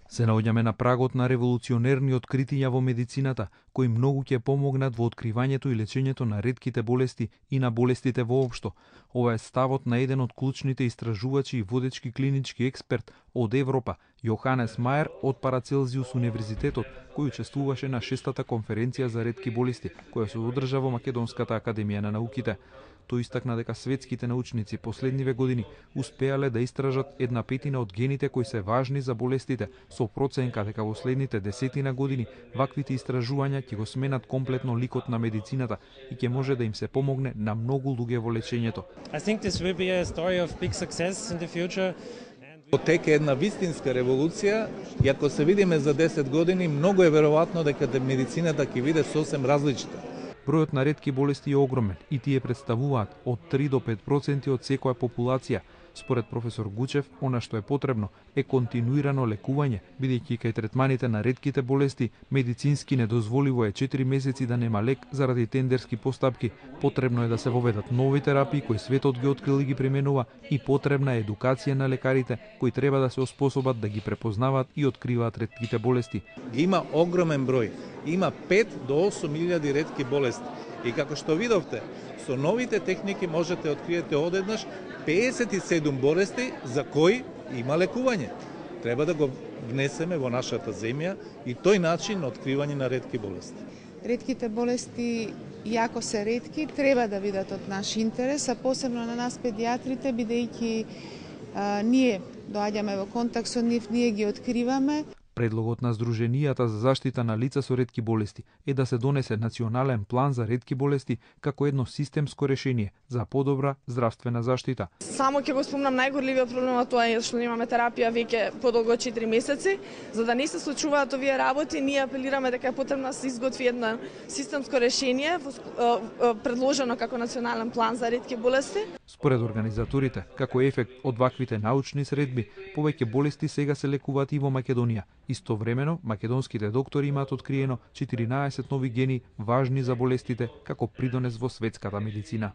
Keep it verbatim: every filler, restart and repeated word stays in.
Се наоѓаме на прагот на револуционерни откритија во медицината, кои многу ќе помогнат во откривањето и лечењето на ретките болести и на болестите воопшто. Ова е ставот на еден од клучните истражувачи и водечки клинички експерт од Европа, Јоханес Мајер од Парацелзиус универзитетот, кој учествуваше на шестата конференција за ретки болести, која се одржа во Македонската академија на науките. Тој истакна дека светските научници последниве години успеале да истражат една петина од гените кои се важни за болестите, со проценка дека во следните десетина години ваквите истражувања ќе го сменат комплетно ликот на медицината и ќе може да им се помогне на многу луѓе во лечењето. I think this will be a story of big success in the future. Тека една вистинска револуција и ако се видиме за десет години, многу е веројатно дека медицината ќе биде сосем различна. Бројот на ретки болести е огромен и тие представуваат од три до пет проценти од секоја популација. Според професор Гучев, она што е потребно е континуирано лекување, бидејќи кај третманите на ретките болести медицински недозволиво е четири месеци да нема лек заради тендерски постапки. Потребно е да се воведат нови терапии кои светот ги открил и ги применува и потребна е едукација на лекарите кои треба да се оспособат да ги препознаваат и откриваат ретките болести. Има огромен број. Има пет до осум илјади ретки болести. И како што видовте, со новите техники можете да откриете одеднаш педесет и седум болести за кои има лекување. Треба да го внесеме во нашата земја и тој начин на откривање на ретки болести. Ретките болести, иако се ретки, треба да бидат од наш интерес, а посебно на нас педиатрите, бидејќи а, ние доаѓаме во контакт со нив, ние ги откриваме. Предлогот на Сдруженијата за заштита на лица со ретки болести е да се донесе национален план за ретки болести како едно системско решение за подобра здравствена заштита. Само ќе го спомнам најгорливиот проблем, тоа е што немаме терапија веќе подолго од четири месеци. За да не се случуваат овие работи, ние апелираме дека е потребно да се изготви едно системско решение предложено како национален план за ретки болести. Според организаторите, како ефект од ваквите научни средби, повеќе болести сега се лекуваат и во Македонија. Истовремено, македонските доктори имаат откриено четиринаесет нови гени важни за болестите како придонес во светската медицина.